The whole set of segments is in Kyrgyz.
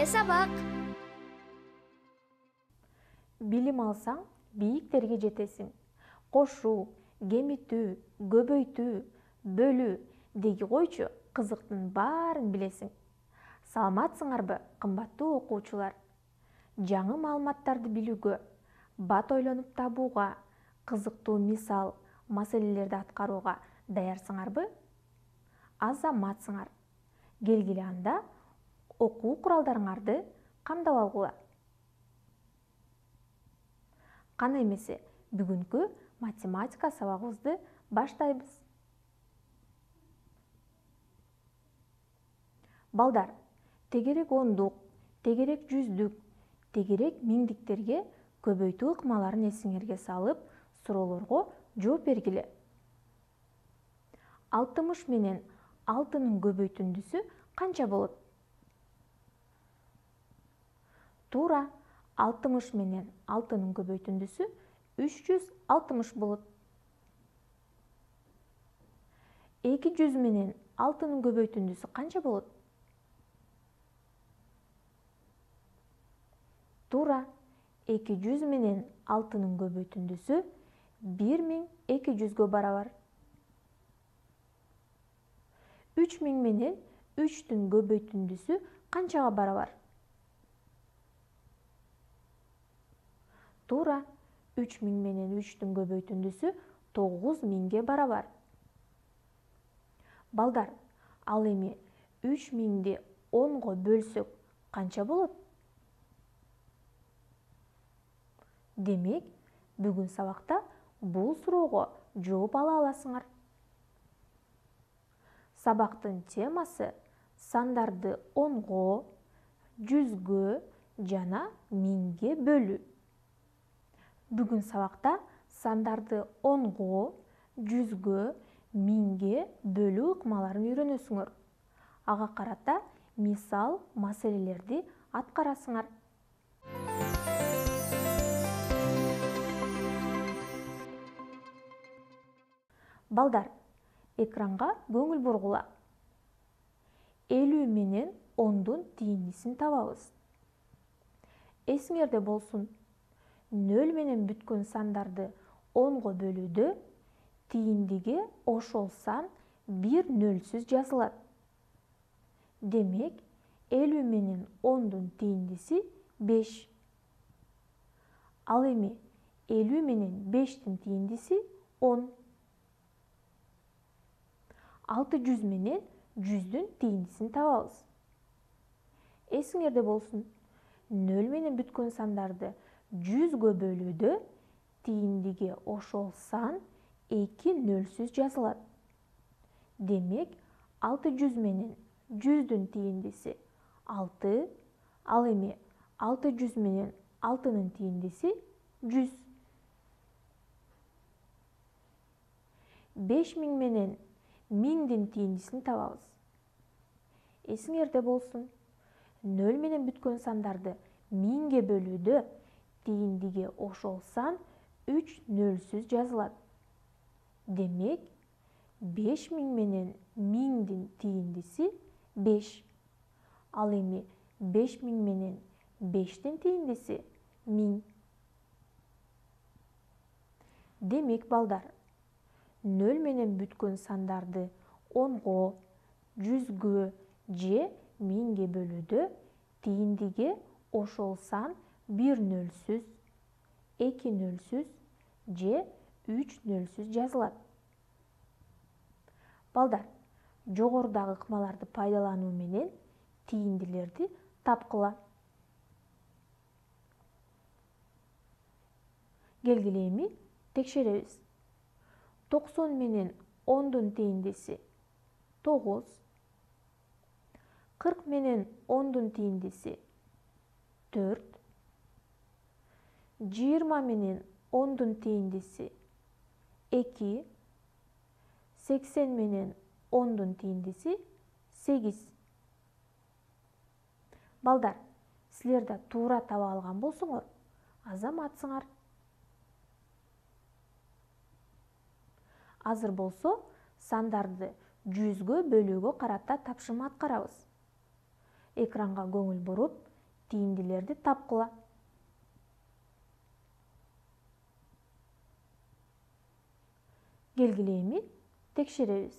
эле сабак. Билим алсаң, бийиктерге жетесиң. Кошуу, кемитүү, көбөйтүү, бөлүү деги койчу кызыктын баарын билесиң. Саламатсыңарбы, кымбаттуу окуучулар? Жаңы маалыматтарды билүүгө, бат ойлонуп табууга, кызыктуу мисал, маселелерди аткарууга даярсыңарбы? Азаматсыңар. Келгиле анда окуу куралдарыңарды камдап алгыла. Кана эмесе, бүгүнкү математика сабагыбызды баштайбыз. Балдар, тегерек ондук, тегерек жүздүк, тегерек миңдиктерге көбөйтүү ыкмаларын эсиңерге салып, суроолорго жооп бергиле. 60 менен 6-нын көбөйтүндүсү канча болот? Туура, 60 менен 6-нын көбөйтүндүсү 360 болот. 200 менен 6-нын көбөйтүндүсү канча болот? Туура, 200 менен 6-нын көбөйтүндүсү 1200-гө барабар. 3000 менен 3-түн көбөйтүндүсү канчага барабар? Туура, 3000 менен 3-түн көбөйтүндүсү 9000-ге барабар. Балдар, ал эми 3000-ди 10-го бөлсөк канча болот? Демек, бүгүн сабакта бул суроого жооп ала аласыңар. Сабактын темасы сандарды 10-го, 100-гө жана 1000-ге бөлүү. Бүгүн сабакта сандарды 10-го, 100-гө, 1000-ге бөлүү ыкмаларын үйрөнөсүңөр. Ага карата мисал, маселелерди аткарасыңар. Балдар, экранга көңүл бургула. 50 менен 10-дун тийиндисин табабыз. Эсиңерде болсун, 0 менен бүткөн сандарды 10-го бөлүүдө тийиндиге ошол сан бир нөлсүз жазылат. Демек, 50 менен 10-дун тийиндиси 5. Ал эми 50 менен 5-тин тийиндиси 10. 600 менен 100-дүн тийиндисин табабыз. Эсиңерде болсун, 0 менен бүткөн сандарды 100-гө бөлүүдө тийиндиге ошол сан 2 нөлсүз жазылат. Демек, 600 менен 100-дүн тийиндиси 6, ал эми 600 менен 6-нын тийиндиси 100. 5000 менен 1000-дин тийиндисин табабыз. Эсиңерде болсун, 0 менен бүткөн сандарды 1000-ге бөлүүдө тийиндиге ошол сан 3 нөлсүз жазылат. Демек, 5000 менен 1000-дин тийиндиси 5. Ал эми 5000 менен 5-тин тийиндиси 1000. Демек, балдар, 0 менен бүткөн сандарды 10-го, 100-гө же 1000-ге бөлүүдө тийиндиге ошол сан 1 нөлсүз, 2 нөлсүз же 3 нөлсүз жазылат. Балдар, жогорудагы ыкмаларды пайдалануу менен тийиндилерди тапкыла. Келгиле эми текшеребиз. 90 менен 10-дун тийиндиси 9. 40 менен 10-дун тийиндиси 4. 20 менен 10-дун тийиндиси 2. 80 менен 10-дун тийиндиси 8. Балдар, силер да туура таба алган болсоңор, азаматсыңар. Азыр болсо сандарды 100-гө бөлүүгө карата тапшырма аткарабыз. Экранга көңүл буруп, тийиндилерди тапкыла. Келгиле эми текшеребиз.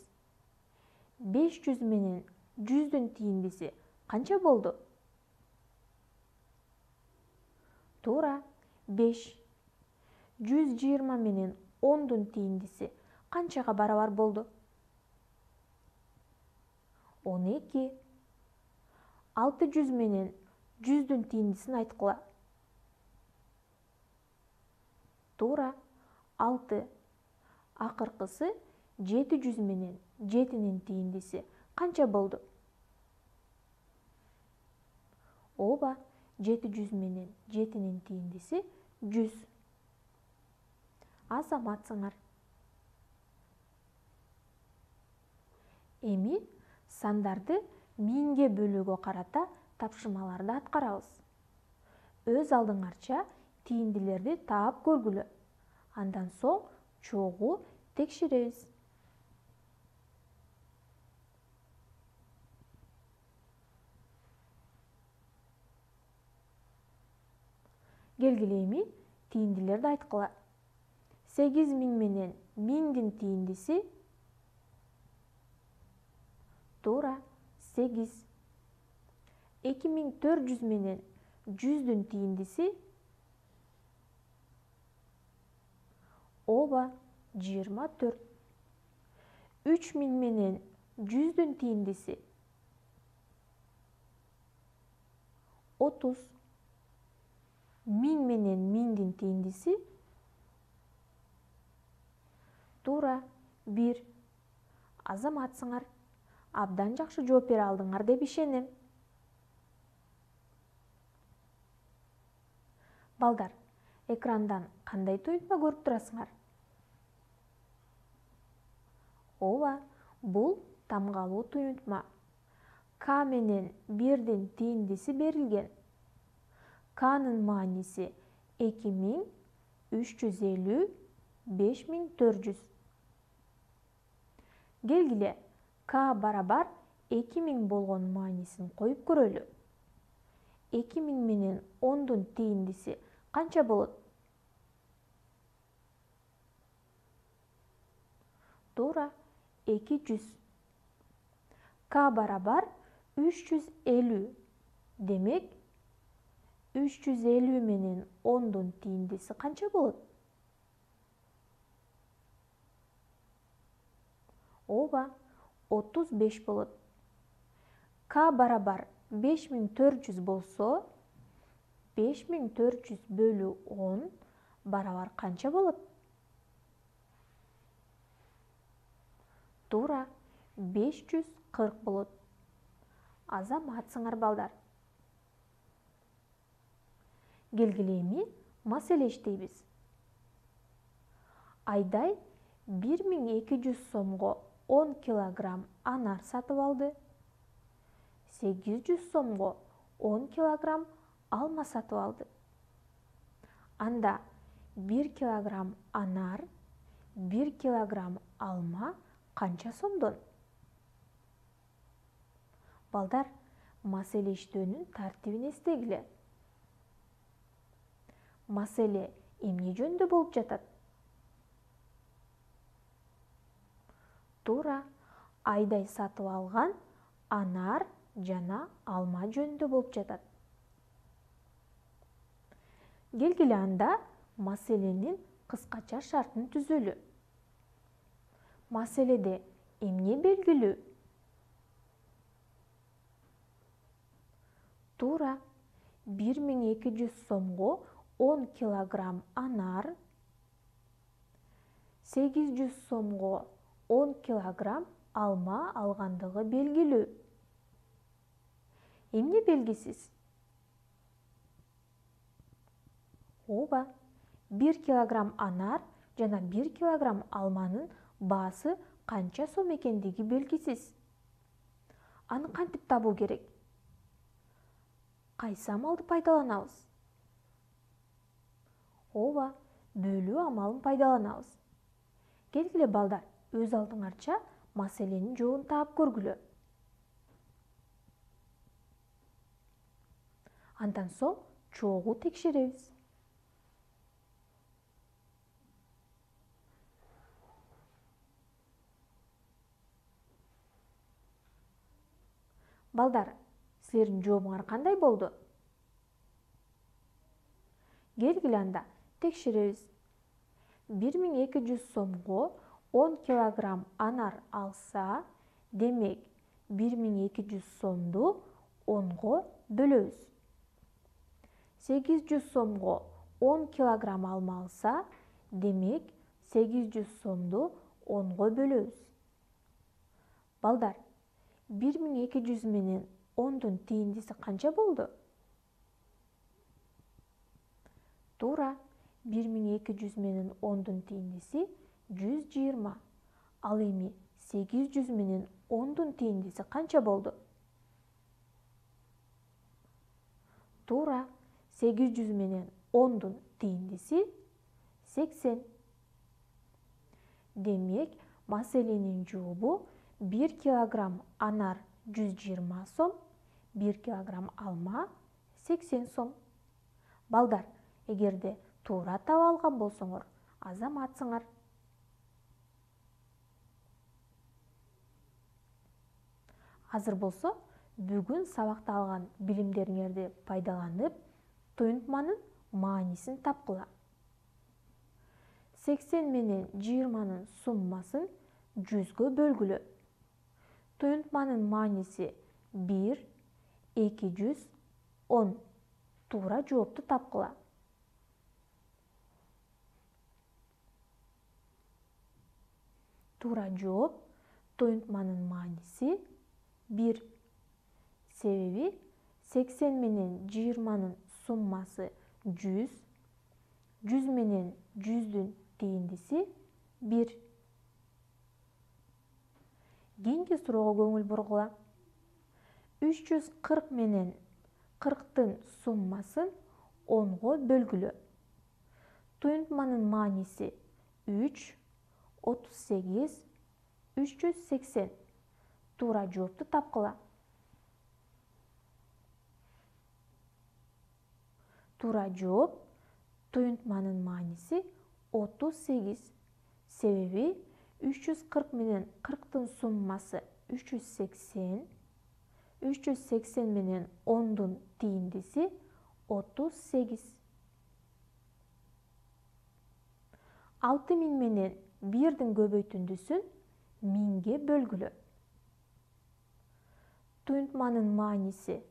500 менен 100-дүн тийиндиси канча болду? Туура, 5. 120 менен 10-дун тийиндиси канчага барабар болду? 12. 600 менен 100-дүн тийиндисин айткыла. Туура, 6. Акыркысы 700 менен 7-нин тийиндиси канча болду? Ооба, 700 менен 7-нин тийиндиси 100. Азаматсыңар. Эми сандарды миңге бөлүүгө карата тапшырмаларды аткарабыз. Өз алдыңарча тийиндилерди таап көргүлө. Андан соң чогуу текшеребиз. Келгиле эми тийиндилерди айткыла. 8000 менен 1000-дин тийиндиси туура 8. 2400 менен 100-дүн тийиндиси ооба 24. 3000 менен 100-дүн тийиндиси 30. 1000 менен 1000-дин тийиндиси туура 1. Азаматсыңар. Абдан жакшы жооп бере алдыңар деп ишенем. Балдар, экрандан кандай туюнтма көрүп турасыңар? Ооба, бул тамгалуу туюнтма. К менен 1-дин тийиндиси берилген. К'нын мааниси 2000, 350, 5400. Келгиле, К барабар 2000 болгон маанисин коюп көрөлү. 2000 менен 10-дун тийиндиси канча болот? Туура, 200. К барабар 350. Демек, 350 менен 10-дун тийиндиси канча болот? Ооба, 35 болот. К барабар 5400 болсо, 5400 бөлүү 10 барабар канча болот? Туура, 540 болот. Азаматсыңар балдар. Келгиле эми маселе иштейбиз. Айдай 1200 сомго 10 килограмм анар сатып алды. 800 сомго 10 килограмм алма сатып алды. Анда 1 килограмм анар, 1 килограмм алма канча сомдон? Балдар, маселе иштөөнүн тартибин эстегиле. Маселе эмне жөнүндө болуп жатат? Туура, Айдай сатып алган анар жана алма жөнүндө болуп жатат. Келгиле анда маселенин кыскача шартын түзөлү. Маселеде эмне белгилүү? Туура, 1200 сомго 10 килограмм анар, 800 сомго 10 килограмм алма алгандыгы белгилүү. Эмне белгисиз? Ооба, 1 килограмм анар жана 1 килограмм алманын баасы канча сом экендиги белгисиз. Аны кантип табуу керек? Кайсы амалды пайдаланабыз? Ооба, бөлүү амалын пайдаланабыз. Келгиле балдар, өз алдыңарча маселенин жообун таап көргүлө. Андан соң чогуу текшеребиз. Балдар, силердин жообуңар кандай болду? Келгиле анда текшеребиз. 1200 сомго 10 килограмм анар алса, демек 1200 сомду 10го бөлөбүз. 800 сомго 10 килограмм алма алса, демек 800 сомду 10го бөлөбүз. Балдар, 1200 менен 10дун тээндиси канча болду? Туура, 1200 менен 10дун тээндиси 120. Ал эми 800 менен 10дун тээндиси канча болду? Туура, 800 менен 10дун тээндиси 80. Демек, маселенин жообу 1 килограмм анар 120 сом, 1 килограмм алма 80 сом. Балдар, эгерде туура таап алган болсоңор, азаматсыңар. Азыр болсо, бүгүн сабакта алган билимдериңерди пайдаланып, туюнтманын маанисин тапкыла. 80 менен 20нын суммасын 100гө бөлгүлө. Туюнтманын мааниси 1, 210. Туура жоопту тапкыла. Туура жооп туюнтманын мааниси 1. Себеби 80 менен 20нын суммасы 100, 100 менен 100дүн тээндиси 1. Кийинки суроого көңүл бургула. 340 менен 40тын суммасын 10го бөлгүлө. Туюнтманын мааниси 3, 38, 380. Туура жоопту тапкыла. Туура жооп туюнтманын мааниси 38. Себеби 340 менен 40тын суммасы 380, 380 менен 10дун тээндиси 38. 6000 менен 1дин көбөйтүндүсүн 1000ге бөлгүлө. Туюнтманын мааниси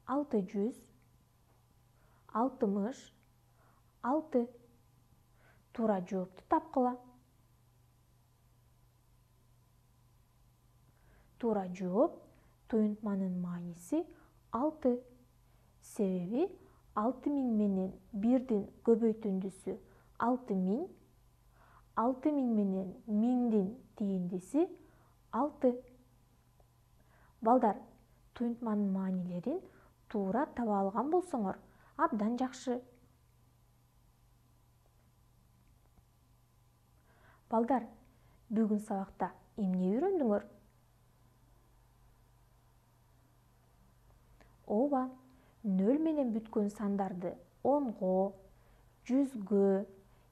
600, 60, 6. Туура жоопту тапкыла. Туура жооп туюнтманын мааниси 6. Себеби 6000 менен 1дин көбөйтүндүсү 6000, 6000 менен 1000дин тээндиси 6. Балдар, туюнтманын маанилерин туура таба алган болсоңор, абдан жакшы. Балдар, бүгүн сабакта эмне үйрөндүңөр? Ооба, 0 менен бүткөн сандарды 10го, 100гө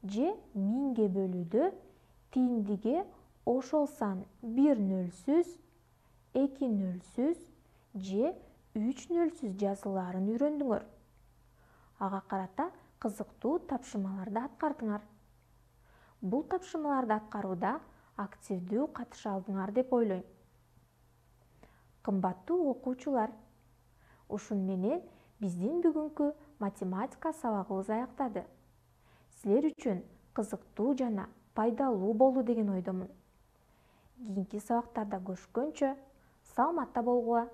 же 1000ге бөлүүдө тээндиге ошол сан 1 нөлсүз, 2 нөлсүз же 3 нөлсүз жазылаарын үйрөндүңөр. Ага карата кызыктуу тапшырмаларды аткардыңар. Бул тапшырмаларды аткарууда активдүү катыша алдыңар деп ойлойм. Кымбаттуу окуучулар, ушун менен биздин бүгүнкү математика сабагыбыз аяктады. Силер үчүн кызыктуу жана пайдалуу болду деген ойдомун. Кийинки сабактарда көрүшкөнчө, саламатта болгула.